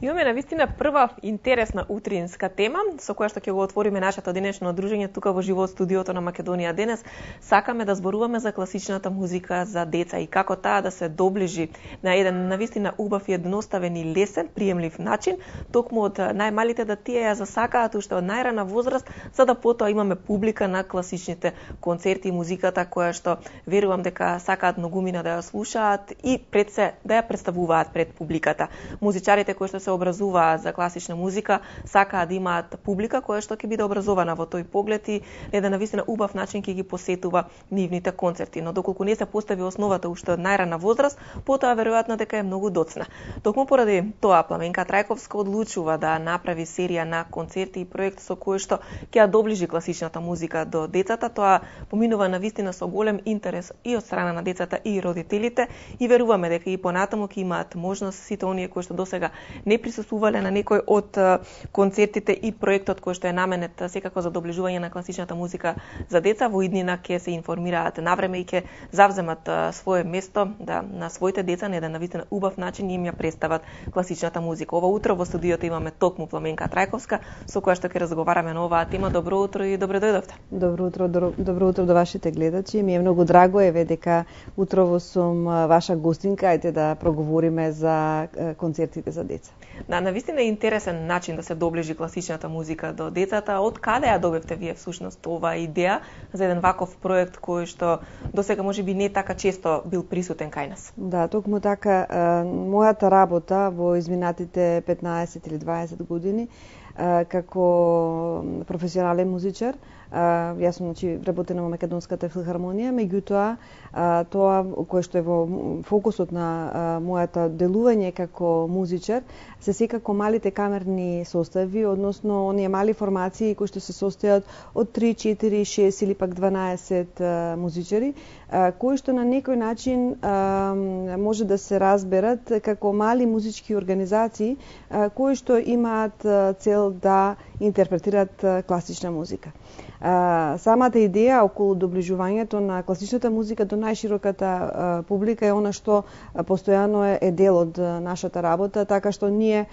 Имаме навистина прва интересна утринска тема со која што ќе го отвориме нашето денешно дружење тука во живот студиото на Македонија денес. Сакаме да зборуваме за класичната музика за деца и како таа да се доближи на еден навистина убав и едноставен и лесен, приемлив начин, токму од најмалите да тие ја засакаат уште од најрана возраст, за да потоа имаме публика на класичните концерти и музиката која што верувам дека сакаат многумина да ја слушаат и пред се да ја представуваат пред публиката. Музичарите кои што се образуваат за класична музика сакаат да имаат публика која што ќе биде образована во тој поглед и еден навистина убав начин ќе ги посетува нивните концерти. Но доколку не се постави основата уште од најрана возраст, потоа веројатно дека е многу доцна. Токму поради тоа Пламенка Трајковска одлучува да направи серија на концерти и проект со кој што ќе ја доближи класичната музика до децата. Тоа поминува навистина со голем интерес и од страна на децата и родителите и веруваме дека и понатаму ќе имаат можност сите оние кои што досега не присуствувале на некој од концертите и проектот кој што е наменет секако за доближување на класичната музика за деца во иднина ќе се информираат навреме и ќе завземат свое место да на своите деца на еден навистина убав начин им ја представат класичната музика. Ова утро во студиото имаме токму Пламенка Трајковска со која што ќе разговараме на оваа тема. Добро утро и добро дојдовте. Добро утро до вашите гледачи. Ми е многу драго дека утрово сум ваша гостинка, ајде да проговориме за концертите за деца. Да, навистина е интересен начин да се доближи класичната музика до децата. Од каде ја добивте вие всушност оваа идеја за еден ваков проект кој што досега можеби не така често бил присутен кај нас? Да, токму така, мојата работа во изминатите 15 или 20 години како професионален музичар, јас сум работена во Македонската филхармонија, меѓутоа тоа кое што е во фокусот на мојата делување како музичар се секако малите камерни состави, односно оние мали формации кои што се состојат од 3, 4, 6 или пак 12 музичари, кои што на некој начин може да се разберат како мали музички организации кои што имаат цел да интерпретираат класична музика. Самата идеја околу доближувањето на класичната музика до најшироката публика е она што постојано е дел од нашата работа, така што ние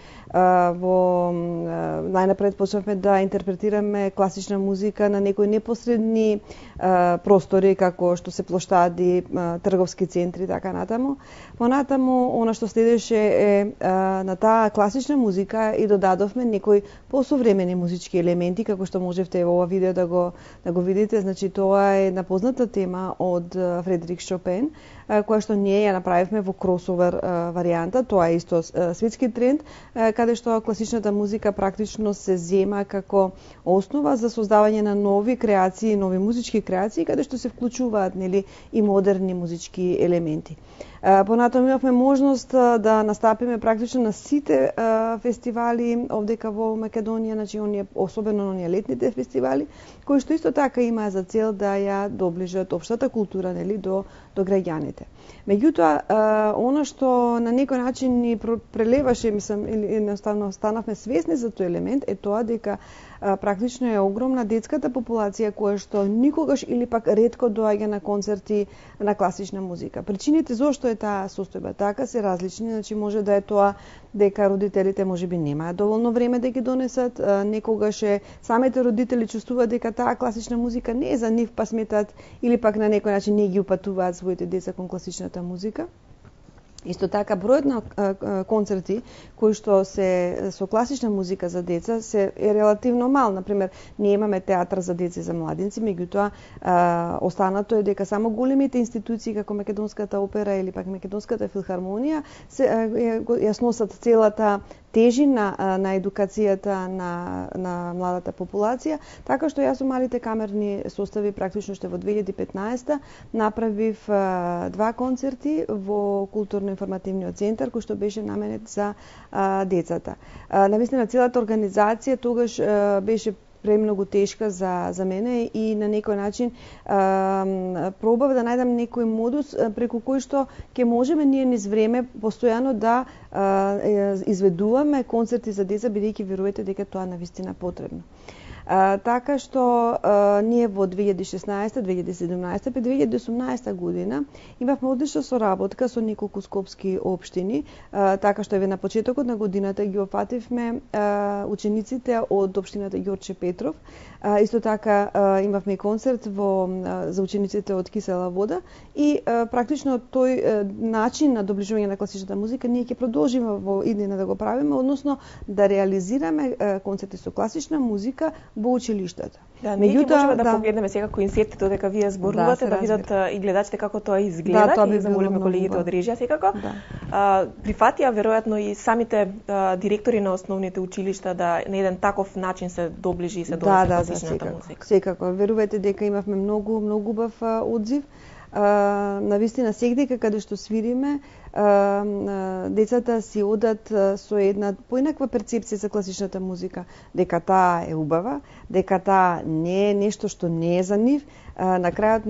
најнапред почнавме да интерпретираме класична музика на некои непосредни простори како што се плоштади, трговски центри, така натаму. Понатаму, она што следеше е на таа класична музика и додадовме некои посовремени музички елементи, како што можевте во ова видео да го видите. Значи, тоа е една позната тема од Фредерик Шопен, која што ние ја направивме во кросовер варијанта. Тоа е исто светски тренд, каде што класичната музика практично се зема како основа за создавање на нови креации, нови музички креации, каде што се вклучуваат и модерни музички елементи. Понатаму имавме можност да настапиме практично на сите фестивали овдека во Македонија, значи особено оние летните фестивали, кои што исто така имаа за цел да ја доближат општата култура до граѓаните. Меѓутоа, она што на некој начин ни прелеваше, мислам, или едноставно станавме свесни за тој елемент, е тоа дека практично е огромна детската популација која што никогаш или пак ретко доаѓа на концерти на класична музика. Причините зошто е таа состојба така се различни, значи може да е тоа дека родителите можеби немаат доволно време да ги донесат, некогаш самите родители чувствуваат дека таа класична музика не е за нив, па сметат или пак на некој начин не ги упатуваат своите деца кон класичната музика. Исто така, бројот на концерти кои што се со класична музика за деца е релативно мал. Например, ние имаме театар за деца и за младинци, меѓутоа останато е дека само големите институции како Македонската опера или пак Македонската филхармонија ја сносат целата тежина на едукацијата на младата популација, така што јас со малите камерни состави практично што во 2015 направив 2 концерти во културно-информативниот центар кој што беше наменет за децата. Навистина целата организација тогаш беше премногу тешка за мене и на некој начин пробав да најдам некој модус преку кој што ќе можеме ние низ време постојано да изведуваме концерти за деца, бидејќи верувате дека тоа навистина потребно. Така што ние во 2016, 2017, 2018 година имавме одлична соработка со неколку скопски општини, така што еве на почетокот на годината ги опфативме учениците од општината Ѓорче Петров. Исто така имавме концерт за учениците од Кисела вода и практично тој начин на доближување на класичната музика ние ќе продолжиме во иднина да го правиме, односно да реализираме концерти со класична музика во училиштата. Да, меѓутоа можеме да погледнеме сега кои инсерти додека вие зборувате, да видат и гледачите како тоа изгледа, и да замолиме колегите од режија секако. Прифатија веројатно и самите директори на основните училишта да на еден таков начин се доближи и се донесе класичната музика. Секако, верувајте дека имавме многу убав одзив. Навистина сегдека каде што свириме, децата си одат со една поинаква перцепција за класичната музика, дека таа е убава, дека таа не е нешто што не е за нив, на крајот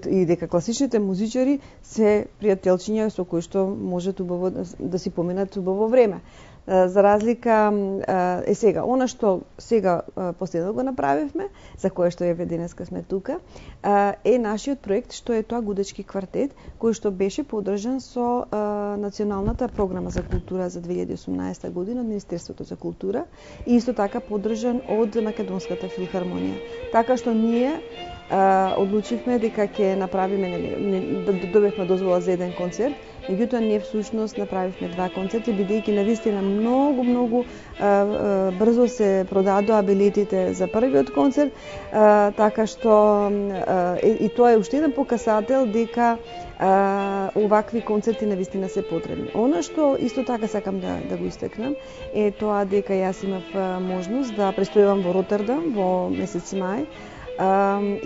и дека класичните музичари се пријателчиња со кои што можат убаво да си поминат убаво време. За разлика сега, она што сега последно го направивме, за кое што еве денеска сме тука, е нашиот проект што е тоа Гудечки квартет, кој што беше поддржан со Националната програма за култура за 2018 година од Министерството за култура и исто така поддржан од Македонската филхармонија. Така што ние одлучивме дека ќе направиме, добивме дозвола за еден концерт, меѓутоа ние всушност направивме два концерти, бидејќи навистина многу брзо се продадоа билетите за првиот концерт, така што и тоа е уште еден показател дека овакви концерти навистина се потребни. Она што исто така сакам да го истекнам е тоа дека јас имав можност да престојувам во Ротердам во месец мај,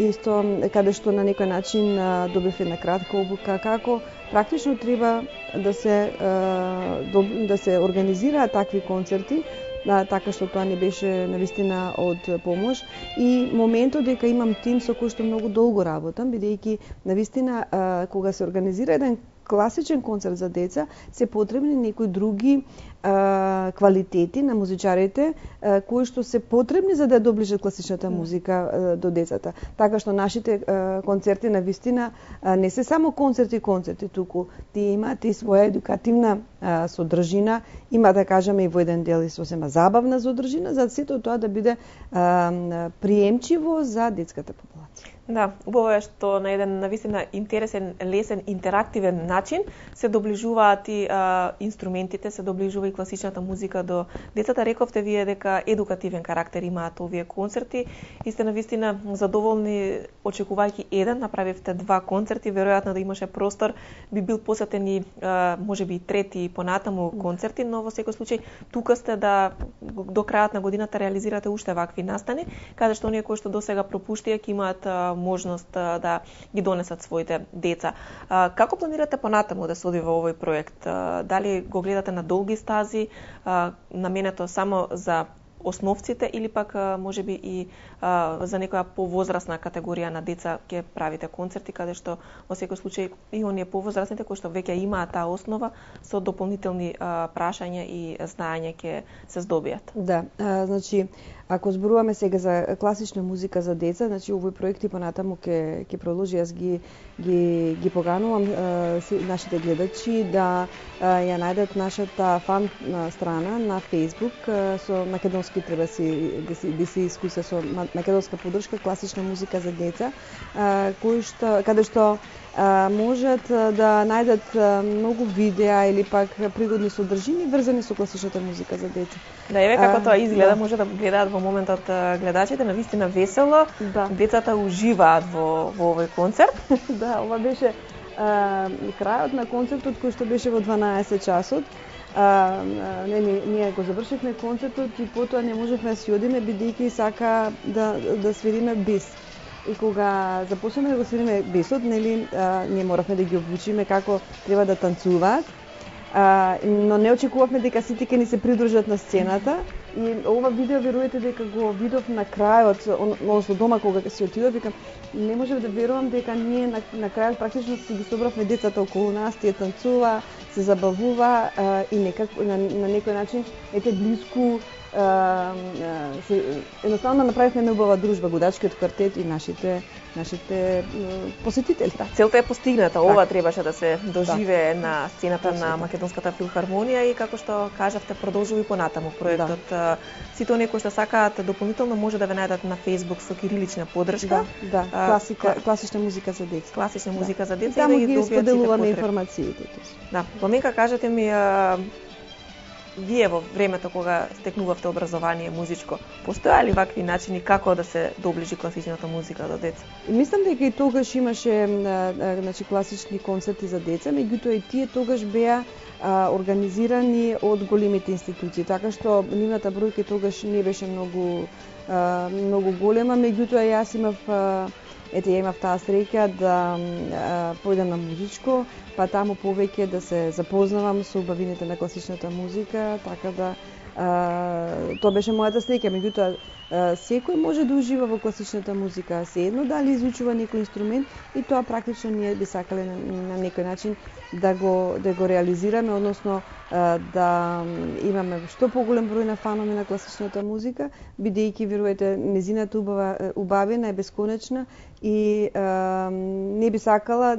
исто каде што на некој начин добив една кратка обука како практично треба да се организираат такви концерти, така што тоа не беше навистина од помош и моментот дека имам тим со кој што многу долго работам, бидејќи навистина кога се организира еден класичен концерт за деца, се потребни некои други квалитети на музичарите кои што се потребни за да доближат класичната музика до децата. Така што нашите концерти навистина не се само концерти, туку тие имаат и своја едукативна содржина, има да кажеме и во еден дел и сосема забавна содржина, за сето тоа да биде приемчиво за детската популација. Да, убаво е што на еден навистина интересен, лесен, интерактивен начин се доближуваат и инструментите, се доближува и класичната музика до децата. Рековте вие дека едукативен карактер имаат овие концерти и сте навистина задоволни очекувајќи еден, направивте два концерти, веројатно да имаше простор, би бил посетен и можеби и трети и понатаму концерти, но во секој случај тука сте да до крајот на годината реализирате уште вакви настани, каде што оние кои што досега пропуштија ќе имаат можност да ги донесат своите деца. Како планирате понатаму да се оди во овој проект? Дали го гледате на долги стази, наменето само за основците или пак можеби и за некоја повозрасна категорија на деца ќе правите концерти каде што во секој случај и оние повозрасните кои што веќе имаат таа основа со дополнителни прашања и знаење ќе се здобијат? Да, значи ако зборуваме сега за класична музика за деца, значи овој проект и понатаму ќе продолжи. Јас ги поганувам нашите гледачи да ја најдат нашата фан страна на Facebook со македонски треба да се искуса со македонска поддршка класична музика за деца, каде што можат да најдат многу видеа или пак пригодни содржини врзани со класичната музика за деца. Да, еве како тоа изгледа, може да гледаат во моментот гледачите, навистина весело, децата уживаат во овој концерт. Да, ова беше крајот на концертот кој што беше во 12 часот. Ние го завршивме концертот и потоа не можевме да си одиме бидејќи сака да свириме бис. И кога започнеме да го свириме бесот, ние моравме да ги обучиме како треба да танцуваат, но не очекувавме дека сите ќе ни се придружат на сцената. И ова видео верувате дека го видов на крајот, односно дома кога си отидов, викам не можев да верувам дека ние на крајот практично си ги собравме децата околу нас, тие танцува, се забавува и некако на некој начин блиску едноставно направивме една убава дружба, Гудачкиот квартет и нашите посетители. Да, целта е постигната. Ова требаше да се доживее на сцената на Македонската филхармонија и како што кажавте, продолжува и понатаму проектот. Сите оние кои што сакаат дополнително може да ве најдат на Facebook со кирилична поддршка. Класична музика за деца. Класична музика за деца и да ги споделуваме информациите. Да, Пламенка, кажете ми, вие во времето кога стекнувавте образование музичко, постоја ли вакви начини како да се доближи класичната музика до деца? Мислам дека и тогаш имаше класични концерти за деца, меѓутоа и тие тогаш беа организирани од големите институции, така што нивната бројка тогаш не беше многу голема, меѓутоа јас имав таа среќа да појдам на музичко, па таму повеќе да се запознавам со убавините на класичната музика, така да тоа беше мојата среќа, меѓутоа секој може да ужива во класичната музика, седно дали изучува некој инструмент и тоа практично ние би сакале на некој начин да го реализираме, односно да имаме што поголем број на фанови на класичната музика, бидејќи верувате незината убавина е бесконечна и не би сакала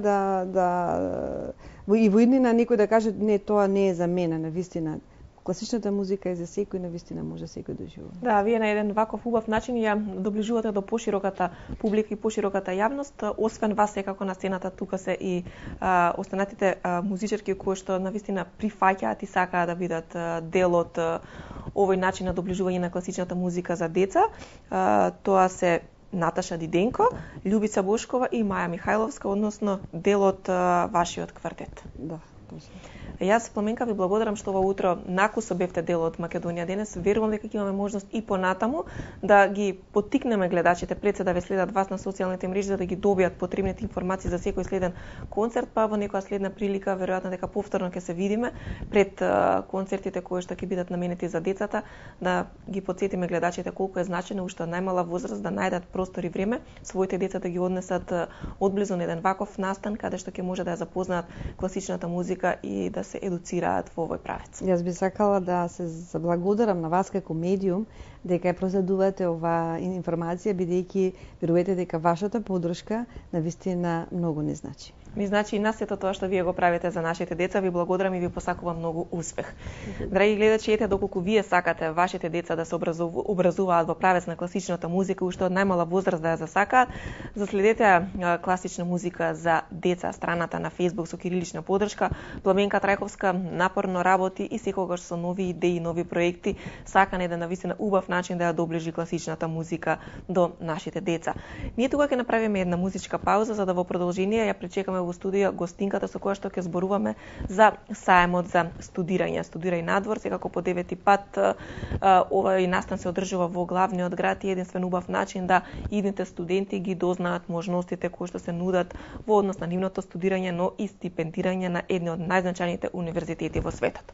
и во иднина некој да каже не, тоа не е за мене, навистина. Класичната музика е за секој, навистина може секој да ужива. Да, вие на еден ваков убав начин ја доближувате до пошироката публика и пошироката јавност. Освен вас, секако на сцената тука се и останатите музичарки кои што навистина прифаќаат и сакаат да бидат дел од овој начин на доближување на класичната музика за деца. Тоа се Наташа Диденко, Љубица Бошкова и Маја Михајловска, односно дел од вашиот квартет. Да, точно. Јас, Пламенка, ви благодарам што ова утро накусо бевте дел од Македонија денес. Верувам дека ќе имаме можност и понатаму да ги поттикнеме гледачите пред се да ве следат вас на социјалните мрежи за да ги добијат потребните информации за секој следен концерт, па во некоја следна прилика веројатно дека повторно ќе се видиме пред концертите кои што ќе бидат наменети за децата, да ги потсетиме гледачите колку е значено уште од најмала возраст да најдат простор и време своите деца да ги однесат одблизу на еден ваков настан каде што ќе може да ја запознаат класичната музика и да се едуцираат во овој правец. Јас би сакала да се заблагодарам на вас како медиум дека ја проследувате оваа информација, бидејќи верувате дека вашата поддршка навистина многу не значи. Ми значи и на сето тоа што вие го правите за нашите деца. Ви благодарам и ви посакувам многу успех. Драги гледачи, ете доколку вие сакате вашите деца да се образуваат во правец на класичната музика уште од најмала возраст да ја засакаат, заследете класична музика за деца страната на Facebook со кирилична поддршка. Пламенка Трајковска напорно работи и секогаш со нови идеи, нови проекти, сака на еден навистина убав начин да ја доближи класичната музика до нашите деца. Ние тука ќе направиме една музичка пауза за да во продолжение ја пречекаме во студија гостинката со која што ќе зборуваме за саемот за студирање. Студирај надвор, секако по 9-ти пат овој настан се одржува во главниот град и единствен убав начин да идните студенти ги дознаат можностите кои што се нудат во однос на нивното студирање, но и стипендирање на едни од најзначајните универзитети во светот.